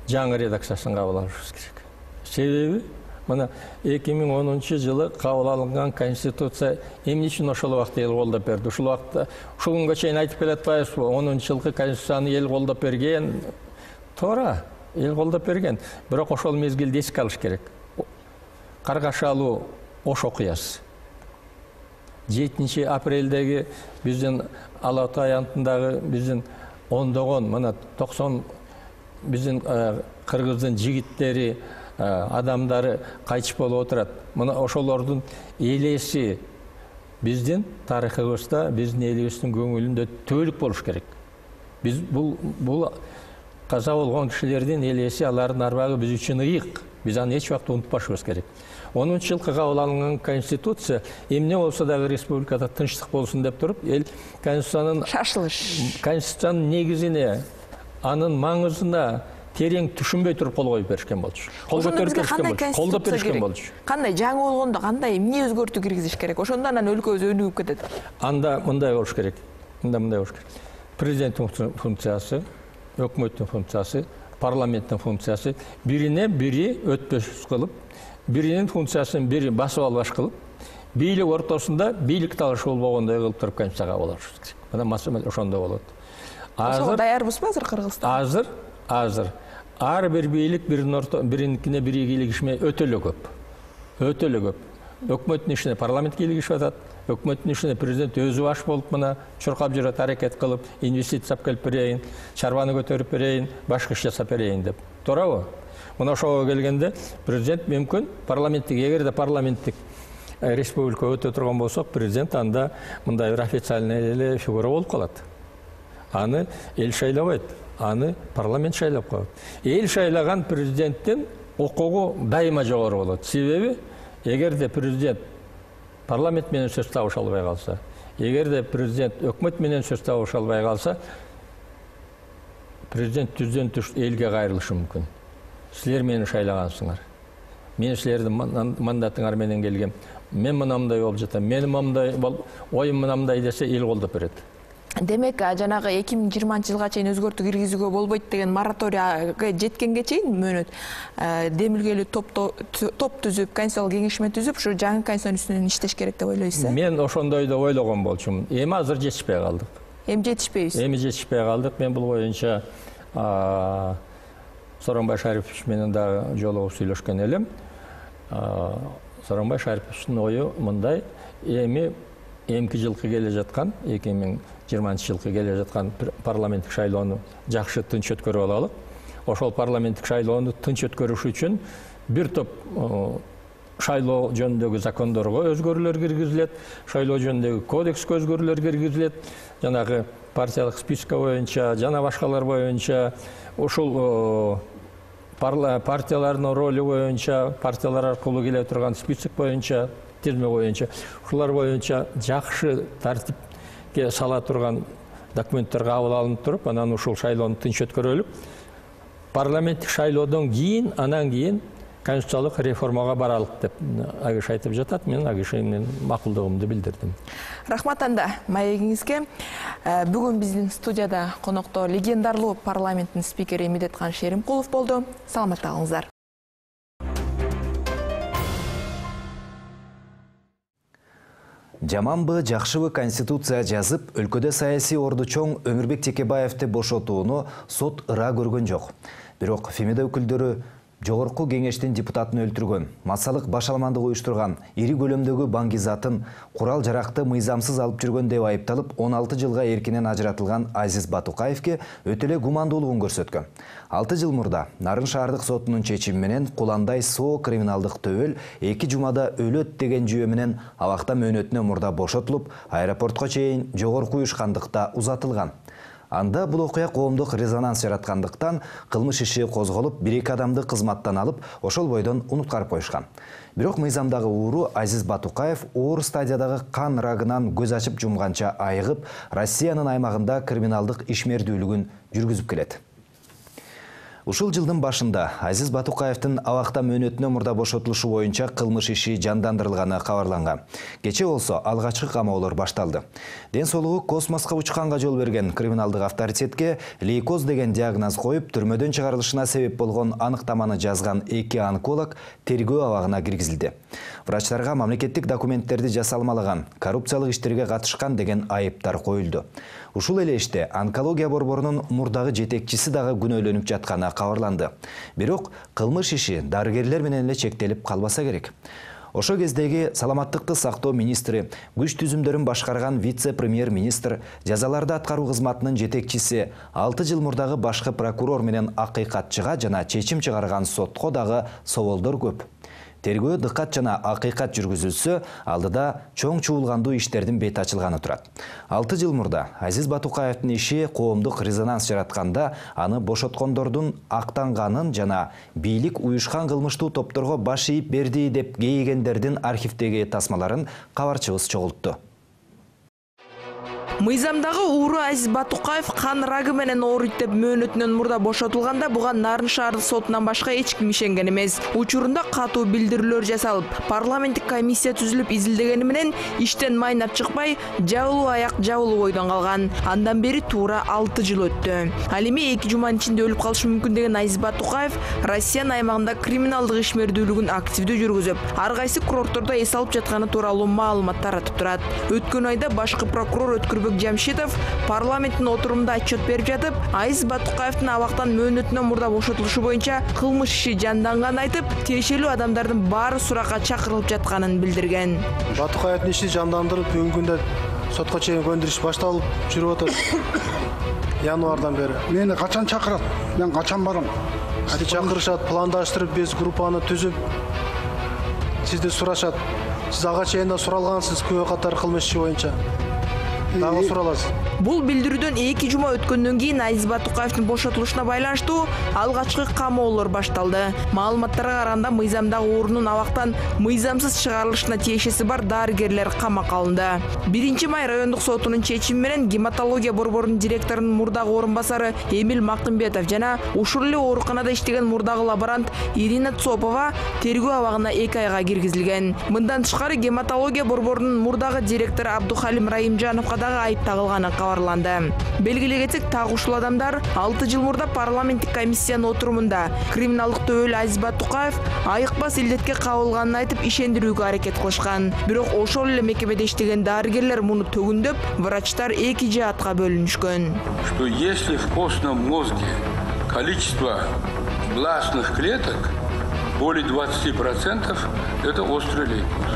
жаңы редакциясын кабыл алышыбыз керек. Себеби мына 2010-жылы кабыл алынган конституция эмне үчүн ошол убакта эл колдоп берди? Ушул убакта ушул күнгө чейин айтып келатпайбызбы? 10-жылкы конституцияны эл колдоп берген. Туура, эл колдоп берген. Бирок ошол мезгилде эске алыш керек. Каргашалуу Ош окуясы. 7 апрелдеги биздин Ала Ата аянтындагы биздин ондогон, мына 90 биздин кыргыздын жигиттери, адамдары кайтыш болуп отурат. Мына ошолордун элеси биздин тарыхыбызда, биздин элибиздин көңүлүндө түбөлүк болуш керек. Биз бул каза болгон кишилердин элеси, алардын арбагы биз үчүн ыйык. Биз аны эч убакта унутпашыбыз керек. 10-жылкы кабыл алынган конституция эмне болсо дагы республикада тынчтык болсун деп туруп, эл конституциянын конституциянын негизине, анын маңызына терең түшүнбөй туруп кол коюп беришкен болчу. Кол көтөрүп беришкен болчу. Колдоп беришкен болчу. Кандай жаңы болгондо кандай эмне өзгөртүү киргизиш керек? Ошондо анан өлкөбүз өнүгүп кетет. Анда мындай болуш керек. Президенттин функциясы, өкмөттүн функциясы, парламенттин функциясы бирине бири өтпөс кылып, биринин функциясын бири басып албаш кылып, бийлик ортосунда бийлик талашы болбогондой кылып туруп конституцияга кабыл алыш керек. Мына маселе ошондо болот. Ошого даярбызбы азыр Кыргызстан? Азыр ар бир бийлик бириникине бири кийлигишмей өтө эле көп. Өкмөттүн ишине парламент кийлигишип атат. Өкмөттүн ишине президент өзү баш болуп мына чуркап жүрөт, аракет кылып, инвестиция алып берейин, чарбаны көтөрүп берейин, башка иш жасап берейин деп. Туурабы? Мына ошого келгенде президент мүмкүн парламенттик, эгерде парламенттик республика өтө турган болсок, президент анда мындай бир официальный эле фигура болуп калат. Аны эл шайлабайт, аны парламент шайлап коет. Эл шайлаган президенттин укугу дайыма жогору болот. Себеби эгерде президент парламент менен сөз табыша албай калса, эгерде президент өкмөт менен сөз табыша албай калса, президент түздөн түш элге кайрылышы мүмкүн. Силер мени шайлагансыңар. Мен силердин мандатыңар менен келгем. Мен мынамдай болуп жатам. Менин мындай оюм мынамдай десе эл колдоп берет. Демек, жанагы 2020-жылга чейин өзгөртүү киргизүүгө болбойт деген мораторийга жеткенге чейин мөөнөт демилгелүү топ түзүп, конституциялык кеңешме түзүп, ушу жаңы конституциянын үстүнөн иштеш керек деп ойлойсузбу? Мен ошондой да ойлогон болчумун. Эми азыр жетишпей калдык. Эми жетишпейбиз. Эми жетишпей калдык. Мен бул боюнча Сооронбай Шарипович менен дагы жолугуп сүйлөшкөн элем. Сооронбай Шариповичтин ою мындай: эмки жылкы келе жаткан, 2020-жылкы келе жаткан парламенттик шайлоону жакшы тынч өткөрүп алалы. Ошол парламенттик шайлоону тынч өткөрүш үчүн бир топ шайлоо жөнүндөгү закондорго өзгөрүүлөр киргизилет, шайлоо жөнүндөгү кодекске өзгөрүүлөр киргизилет, жанагы партиялык списка боюнча, жана башкалар боюнча, ушул партиялардын ролу боюнча, партиялар аркылуу келе турган список боюнча, тизме боюнча, ушулар боюнча жакшы тартипке сала турган документтер кабыл алынып туруп, анан ушул шайлоону тынч өткөрөлүп, парламенттик шайлоодон кийин, анан кийин конституциялык реформага баралык деп Агиш айтып жатат. Мен Агишинин макулдугумду билдирдим. Рахмат анда маегиңизге. Бүгүн биздин студияда конокто легендарлуу парламенттин спикери Медеткан Шеримкулов болду. Саламатта калыңыздар. Жаманбы, жакшыбы конституция жазып, өлкөдө саясий орду чоң Өмүрбек Текебаевди бошотууну сот ыра көргөн жок. Бирок Фемида өкүлдөрү Жогорку кеңештин депутатын өлтүргөн, массалык башаламандык уюштурган, ири көлөмдөгү баңгизатын, курал жаракты мыйзамсыз алып жүргөн деп айыпталып 16 жылга эркинен ажыратылган Азиз Батукаевке өтө эле гумандуулугун көрсөткөн. 6 жыл мурда Нарын шаардык сотунун чечими менен Куландай Соо криминалдык төбөл 2 жумада өлөт деген жүйө менен абакта мөөнөтүнө мурда бошотулуп, аэропортко чейин жогорку уюшкандыкта узатылган. Анда бул окуя коомдук резонанс жараткандыктан кылмыш иши козголуп, 1-2 адамды кызматтан алып, ошол бойдон унуткарып коюшкан. Бирок мыйзамдагы ууру Азиз Батукаев оор стадиядагы кан рагынан көз ачып жумганча айыгып, Россиянын аймагында криминалдык ишмердүүлүгүн жүргүзүп келет. Ушул жылдын башында Азиз Батукаевдин абакта мөөнөтүнө мурда бошотулушу боюнча кылмыш иши жандандырылганы кабарланган. Кече болсо алгачкы камоолор башталды. Ден соолугу космоско учканга жол берген криминалдык авторитетке лейкоз деген диагноз коюп, түрмөдөн чыгарылышына себеп болгон аныктаманы жазган 2 онколог тергөө абагына киргизилди. Врачтарга мамлекеттик документтерди жасалмалаган, коррупциялык иштерге катышкан деген айыптар коюлду. Ушул эле иште онкология борборунун мурдагы жетекчиси дагы күнөөлөнүп жатканы кабарланды. Бирок кылмыш иши дарыгерлер менен эле чектелип калбаса керек. Ошо кездеги саламаттыкты сактоо министри, күч түзүмдөрүн башкарган вице-премьер-министр, жазаларды аткаруу кызматынын жетекчиси 6 жыл мурдагы башкы прокурор менен акыйкатчыга жана чечим чыгарган сотко дагы соолдор көп. Тергөө дыккат жана акыйкат жүргүзүлсө, алдыда чоң чуулгандуу иштердин бети ачылганы турат. 6 жыл мурда Азиз Батукаевдин иши коомдук резонанс жаратканда, аны бошоткондордун актанганын жана бийлик уюшкан кылмыштуу топторго баш ийип берди деп кейигендердин архивдеги тасмаларын кабарчыбыз чогултту. Мыйзамдагы ууру Азиз Батукаев кан рагы менен ооруйт деп мөөнөтүнөн мурда бошотулганда, буга Нарын шаардык сотунан башка эч ким ишенген эмес. Учурунда катуу билдирүүлөр жасалып, парламенттик комиссия түзүлүп изилдегени менен иштен майнап чыкпай, жабылуу аяк жабылуу бойдон калган. Андан бери туура 6 жыл өттү. Ал эми 2 жуманын ичинде өлүп калышы мүмкүн деген Азиз Батукаев Россиянын аймагында криминалдык ишмердүүлүгүн активдүү жүргүзүп, ар кайсы курорттордо эс алып жатканы тууралуу маалымат таратып турат. Өткөн айда башкы прокурор Жамшитов парламенттин отурумунда отчет берип жатып, Азиз Батукаевдин абактан мөөнөтүнөн мурда бошотулушу боюнча кылмыш иши жанданганын айтып, тиешелүү адамдардын баары суракка чакырылып жатканын билдирген. Батукаевдин иши жандандырып, бүгүнкү күндө сотко чейин көндүрүш башталып жүрүп атат. Январдан бери. Мени качан чакырат? Мен качан барам? Чакырышат, пландаштырып, биз группаны түзүп, сизди сурашат. Сиз ага чейин да суралгансыз күбө катар кылмыш иши боюнча. Дагы сураласыз. Бул билдирүүдөн 2 жума өткөндөн кийин Азиз Батукаевдин бошотулушуна байланыштуу алгачкы камоолор башталды. Маалыматтарга караганда, мыйзамдагы уурунун абактан мыйзамсыз чыгарылышына тиешеси бар дарыгерлер камакка алынды. 1 май райондук сотунун чечими менен гематология борборунун директорунун мурдагы орун басары Эмил Макымбетов жана ушул эле ооруканада иштеген мурдагы лаборант Ирина Цопова тергөө абагына 2 айга киргизилген. Мындан тышкары гематология борборунун мурдагы директору Абдухалим Раимжановго дагы айып тагылганы кабарланды. Белгилей кетсек, так ушул адамдар 6 жыл мурда парламенттик комиссиянын отурумунда криминалдык төбөл Азиз Батукаев айыкпас илдетке кабылганын айтып ишендирүүгө аракет кылышкан. Бирок ошол эле мекемеде иштеген дарыгерлер муну төгүндөп, врачтар 2 жаатка бөлүнүшкөн. Что если в костном мозге количество гласных клеток более 20%, это острый лейкоз.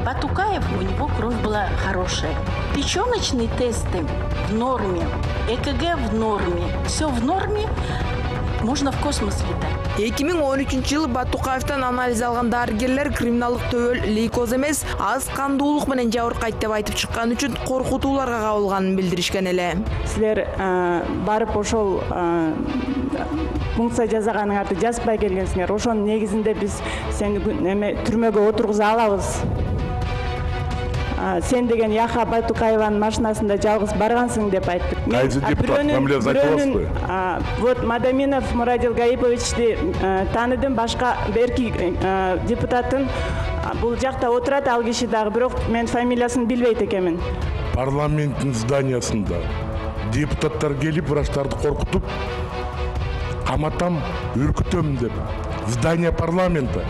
Батукаев, у него кровь была хорошая. Печеночные тесты в норме, ЭКГ в норме, все в норме, можно в космос летать. 2013 жылы Батукаевтан анализ алган дарыгерлер криминалдык төбөл лейкоз эмес, аз кандуулук менен жабыркайт деп айтып чыккан үчүн коркутууларга кабылганын билдиришкен эле. Силер барып ошол функция жасаганыңарды жазбай келгенсиңер. Ошонун негизинде биз сени түрмөгө отургуза алабыз. Сен деген Яха Батукаеванын машинасында жалгыз баргансың деп айттык. Кайсы депутат фамилиясын айтып аласызбы? Вот Мадаминов Мурадил Гаиповичти тааныдым, башка берки депутатын бул жакта отурат, ал киши дагы, бирок мен фамилиясын билбейт экенмин. Парламенттин зданиясында депутаттар келип врачтарды коркутуп, каматам, үркүтөм деп здание парламента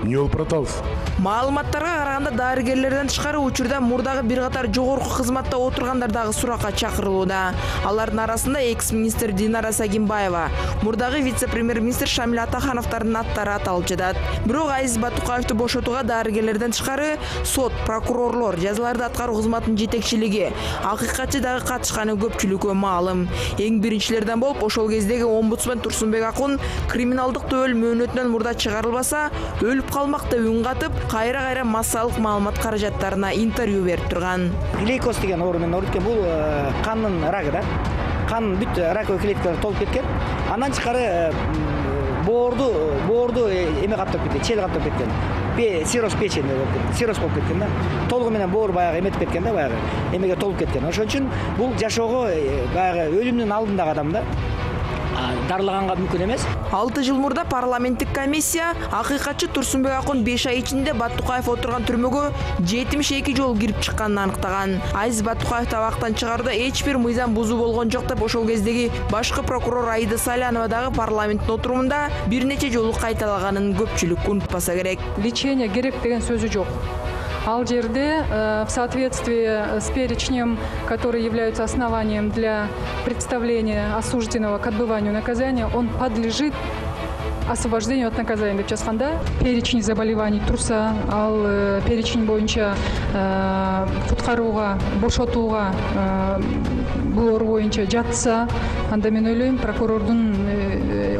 эмне болуп атабыз? Маалыматтарга караганда дарыгерлерден тышкары учурда мурдагы бир катар жогорку кызматта отургандар дагы суракка чакырылууда. Алардын арасында экс-министр Динара Сагимбаева, мурдагы вице-премьер-министр Шамил Атахановдордун аттары аталып жатат. Бирок Азиз Батукаевду бошотууга дарыгерлерден тышкары сот, прокурорлор, жазаларды аткаруу кызматынын жетекчилиги, акыйкатчы дагы катышканы көпчүлүккө маалым. Эң биринчилерден болуп ошол кездеги омбудсмен Турсунбек Акун криминалдык төбөл мөөнөтүнөн мурда чыгарылбаса, өлүп калмак деп үн катып, кайра массалык маалымат каражаттарына интервью берип турган. Глейкоз деген оору менен ооруп кеткен. Бул кандын рагы да. Кан бүт раковый клеткалар толуп кеткен. Андан тышкары боорду эме каптап кеткен, чел каптап кеткен. Цирроз печени болуп кеткен. Цирроз болуп кеткен да. Толугу менен боор баягы эметип кеткен да, баягы эмеге толуп кеткен. Ошон үчүн бул жашоого баягы өлүмдүн алдындагы адам да. Дарылаганга мүмкүн эмес. 6 жыл мурда парламенттик комиссия акыйкатчы Турсунбек Акун 5 ай ичинде Батукаев отурган түрмөгө 72 жолу кирип чыкканын аныктаган. Азиз Батукаев табактан чыгарууда эч бир мыйзам бузуу болгон жок деп ошол кездеги башкы прокурор Аида Салянова дагы парламенттин отурумунда бир нече жолу кайталаганын көпчүлүк унутпаса керек. Лечение керек деген сөзү жок. Ал жерде в соответствии с перечнем, которые являются основанием для представления осужденного к отбыванию наказания, он подлежит освобождению от наказания деп жазганда. Перечень заболеваний турса, ал перечень боюнча куткарууга, бошотууга бул оору боюнча жатса, анда мен ойлойм прокурордун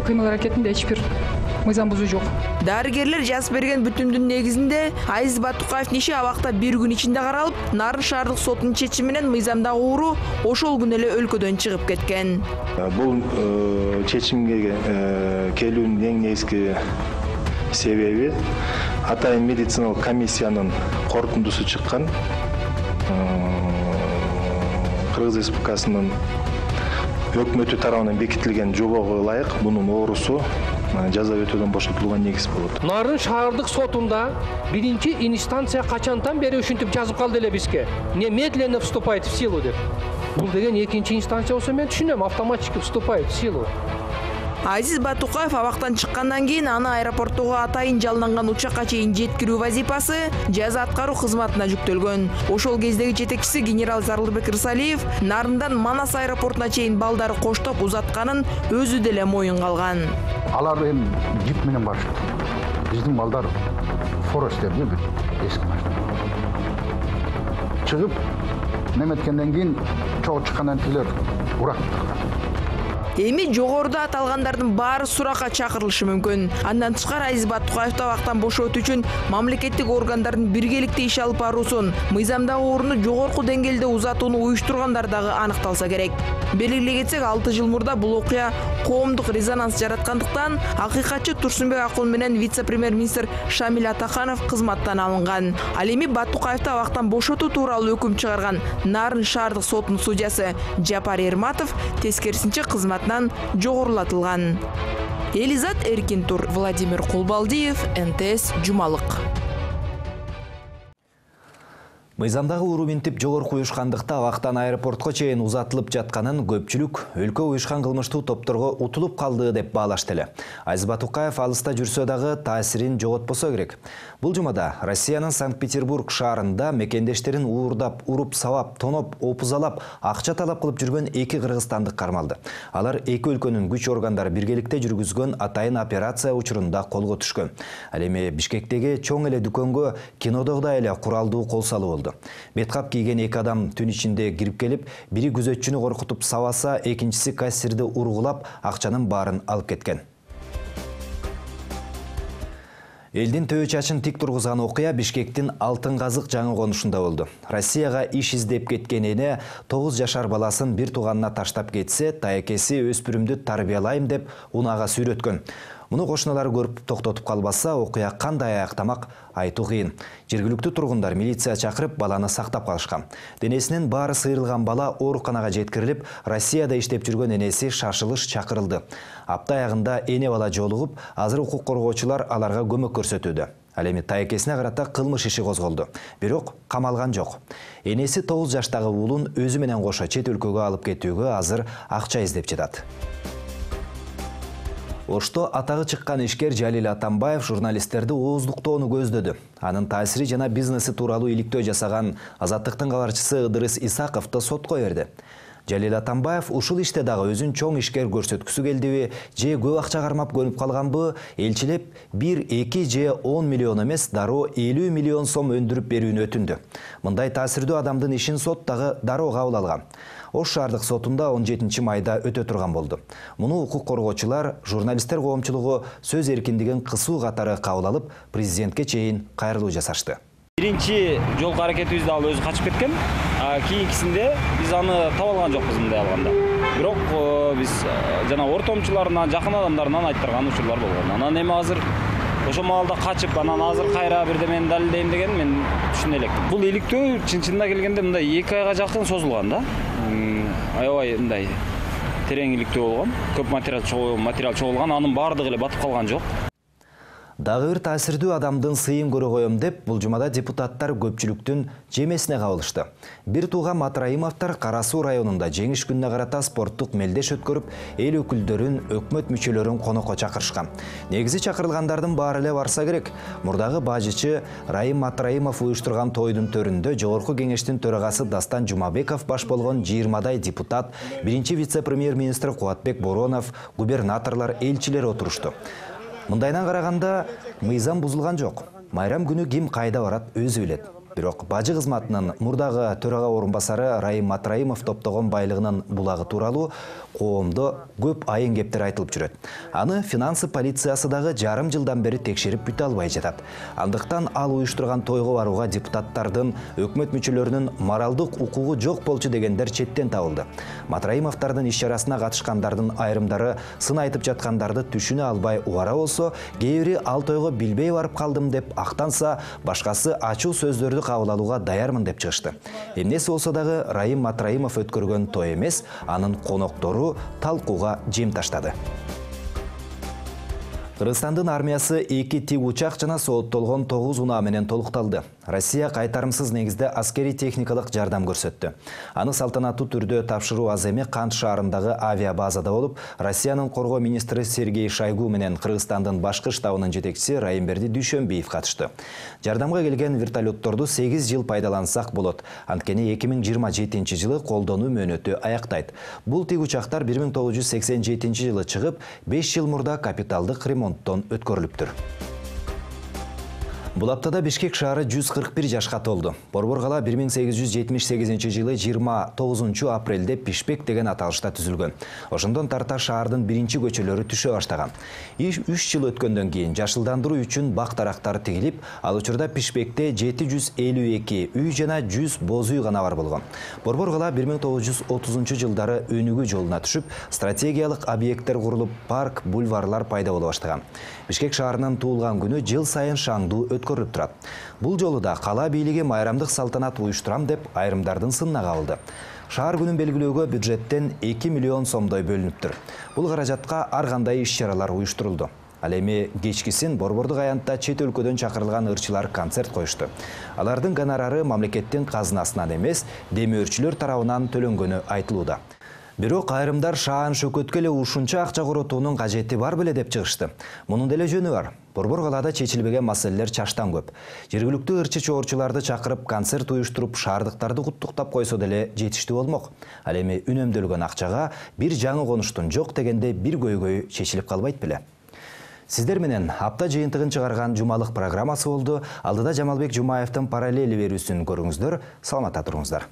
кыймыл аракетинде эч бир мыйзам бузуу жок. Дарыгерлер жазып берген бүтүмдүн негизинде Азиз Батукаевдин иши абакта бир күн ичинде каралып, Нарын шаардык сотунун чечими менен мыйзамдагы ууру ошол күнү эле өлкөдөн чыгып кеткен. Бул чечимге келүүнүн эң негизги себеби атайын медициналык комиссиянын корутундусу чыккан. Кыргыз Республикасынын өкмөтү тарабынан бекитилген жобого ылайык бунун оорусу жаза өтөөдөн бошотулууга негиз болот. Нарын шаардык сотунда биринчи инстанция качантан бери ушинтип жазып калды эле бизге. Немедленно вступает в силу деп. Бул деген экинчи инстанция болсо мен түшүнөм, автоматически вступает в силу. Азиз Батукаев абактан чыккандан кийин аны аэропорттуга атайын жалданган учакка чейин жеткирүү вазифасы жаза аткаруу кызматына жүктөлгөн. Ошол кездеги жетекчиси генерал Зарлыбек Рысалиев Нарындан Манас аэропортуна чейин балдары коштоп узатканын өзү деле моюнга алган. Алар эми жип менен барышты. Биздин балдар форестерди бир эски машина. Чыгып неметкенден кийин чогуу чыккандан тилер урак. Эми жогоруда аталгандардын баары суракка чакырылышы мүмкүн. Андан тышкары Азиз Батукаевди абактан бошотуу үчүн мамлекеттик органдардын биргеликте иш алып баруусун, мыйзамдагы орунду жогорку деңгээлде узатууну уюштургандар дагы аныкталса керек. Белгилей кетсек, 6 жыл мурда бул окуя коомдук резонанс жараткандыктан акыйкатчы Турсунбек Акун менен вице-премьер-министр Шамил Атаханов кызматтан алынган. Ал эми Батукаевди абактан бошотуу тууралуу өкүм чыгарган Нарын шаардык сотунун судьясы Жапар Эрматов тескерисинче кызматынан жогорулатылган. Элизат Эркинтур, Владимир Кулбалдиев, НТС Жумалык. Мыйзамдагы уруу минтип жогорку уюшкандыкта абактан аэропортко чейин узатылып жатканын көпчүлүк өлкө уюшкан кылмыштуу топторго утулуп калды деп баалашты эле. Азиз Батукаев алыста жүрсө дагы таасирин жоготпосо керек. Бул жумада Россиянын Санкт-Петербург шаарында мекендештерин уурдап, уруп, сабап, тоноп, опузалап, акча талап кылып жүргөн 2 кыргызстандык кармалды. Алар эки өлкөнүн күч органдары биргеликте жүргүзгөн атайын операция учурунда колго түшкөн. Ал эми Бишкектеги чоң эле дүкөнгө кинодогудай эле куралдуу кол салуу болду. Беткап кийген 2 адам түн ичинде кирип келип, бири күзөтчүнү коркутуп сабаса, экинчиси кассирди ургулап, акчанын баарын алып кеткен. Элдин төө чачын тик тургузган окуя Бишкектин Алтын Казык жаңы конушунда болду. Россияга иш издеп кеткен эне 9 жашар баласын бир тууганына таштап кетсе, таекеси өспүрүмдү тарбиялайм деп унага сүйрөткөн. Муну кошуналары көрүп токтотуп калбаса, окуя кандай аяктамак айтуу кыйын. Жергиликтүү тургундар милиция чакырып баланы сактап калышкан. Денесинин баары сыйрылган бала ооруканага жеткирилип, Россияда иштеп жүргөн энеси шашылыш чакырылды. Апта аягында эне бала жолугуп, азыр укук коргоочулар аларга көмөк көрсөтүүдө. Ал эми таекесине карата кылмыш иши козголду. Бирок камалган жок. Энеси 9 жаштагы уулун өзү менен кошо чет өлкөгө алып кетүүгө азыр акча издеп жатат. Ошто атагы чыккан ишкер Жалил Атамбаев журналисттерди ооздуктоону көздөдү. Анын таасири жана бизнеси тууралуу иликтөө жасаган Азаттыктын кабарчысы Ыдырыс Исаковду сотко берди. Жалил Атамбаев ушул иште дагы өзүн чоң ишкер көрсөткүсү келдиби, же көп акча кармап көнүп калганбы, элчилеп 1-2 же 10 миллион эмес, дароо 50 миллион сом өндүрүп берүүнү өтүндү. Мындай таасирдүү адамдын ишин сот дагы дароо кабыл алган. Ош шаардык сотунда 17 майда өтө турган болду. Муну укук коргоочулар, журналисттер коомчулугу сөз эркиндигин кысуу катары кабыл алып, президентке чейин кайрылуу жасашты. Биринчи жол аракетибизде ал өзү качып кеткен. Кийинкисинде биз аны таба алган жокпуз мындай алганда. Бирок биз жана ортомчуларынан, жакын адамдарынан айттырган учурлар болгон. Анан эми азыр ошо маалда качып, анан азыр кайра бирдемени далилдейм деген мен түшүнө элекмин. Бул иликтөө чынында келгенде мындай 2 айга жакын созулган да. Аябай мындай терең иликтөө болгон. Көп материал чогулган, анын баардыгы эле батып калган жок. Дагы бир таасирдүү адамдын сыйын көрө коем деп, бул жумада депутаттар көпчүлүктүн жемесине кабылышты. Бир тууган Матраимовдор Кара Суу районунда жеңиш күнүнө карата спорттук мелдеш өткөрүп, эл өкүлдөрүн, өкмөт мүчөлөрүн конокко чакырышкан. Негизи чакырылгандардын баары эле барса керек. Мурдагы бажычы Райым Матраимов уюштурган тойдун төрүндө Жогорку кеңештин төрагасы Дастан Жумабеков баш болгон 20дай депутат, биринчи вице-премьер-министр Кубатбек Боронов, губернаторлор, элчилер отурушту. Мындайдан караганда мыйзам бузулган жок. Майрам күнү ким кайда барат өзү билет. Бирок бажы кызматынын мурдагы төрага орунбасары Райым Матраимов топтогон байлыгынын булагы тууралуу коомдо көп айын кептер айтылып жүрөт. Аны финансы полициясы дагы жарым жылдан бери текшерип бүтө албай жатат. Андыктан ал уюштурган тойго барууга депутаттардын, өкмөт мүчөлөрүнүн моралдык укугу жок болчу дегендер четтен табылды. Матраимовдордун иш чарасына катышкандардын айрымдары сын айтып жаткандарды түшүнө албай убара болсо, кээ бири ал тойго билбей барып калдым деп актанса, башкасы ачуу сөздөрдү кабыл алууга даярмын деп чыгышты. Эмнеси болсо дагы Райым Матраимов өткөргөн той эмес, анын коноктору талкууга жем таштады. Кыргызстандын армиясы 2 тик учак жана сооттолгон 9 унаа менен толукталды. Россия кайтарымсыз негизде аскери техникалык жардам көрсөттү. Аны салтанаттуу түрдө тапшыруу аз эми Кант шаарындагы авиабазада болуп, Россиянын коргоо министри Сергей Шойгу менен Кыргызстандын башкы штабынын жетекчиси Райымберди Дүйшөнбиев катышты. Жардамга келген вертолетторду 8 жыл пайдалансак болот. Анткени 2027 жылы колдонуу мөөнөтү аяктайт. Бул тик учактар 1987 жылы чыгып, 5 жыл мурда капиталдык ремонттон өткөрүлүптүр. Бул аптада Бишкек шаары 141 жашка толду. Борбор кала 1878 жылы 29 апрелде Пишпек деген аталышта түзүлгөн. Ошондон тарта шаардын биринчи көчөлөрү түшө баштаган. 3 жыл өткөндөн кийин жашылдандыруу үчүн бак дарактар тигилип, ал учурда Пишпекте 752 үй жана 100 боз үй гана бар болгон. Борбор кала 1930 жылдары өнүгүү жолуна түшүп, стратегиялык объекттер курулуп, парк, бульварлар пайда боло баштаган. Бишкек шаарынын туулган күнү жыл сайын шаңдуу өткөрүлүп турат. Бул жолу да кала бийлиги майрамдык салтанат уюштурам деп айрымдардын сынына кабылды. Шаар күнүн белгилөөгө бюджеттен 2 миллион сомдой бөлүнүптүр. Бул каражатка ар кандай иш-чаралар уюштурулду. Ал эми кечкисин Борбордук аянтта чет өлкөдөн чакырылган ырчылар концерт коюшту. Алардын гонорары мамлекеттин казынасынан эмес, демөөрчүлөр тарабынан төлөнгөнү айтылууда. Бирок айрымдар шаан шөкөткө эле ушунча акча коротуунун кажети бар беле деп чыгышты. Мунун деле жөнү бар. Борбор калаада чечилбеген маселелер чаштан көп. Жергиликтүү ырчы чоорчуларды чакырып, концерт уюштуруп, шаардыктарды куттуктап койсо деле жетиштүү болмок. Ал эми үнөмдөлгөн акчага бир жаңы конуштун жок дегенде бир көйгөй чечилип калбайт беле. Сиздер менен апта жыйынтыгын чыгарган жумалык программасы болду. Алдыда Жамалбек Жумаевдин параллели берүүсүн көрүңүздөр. Саламатта туруңуздар.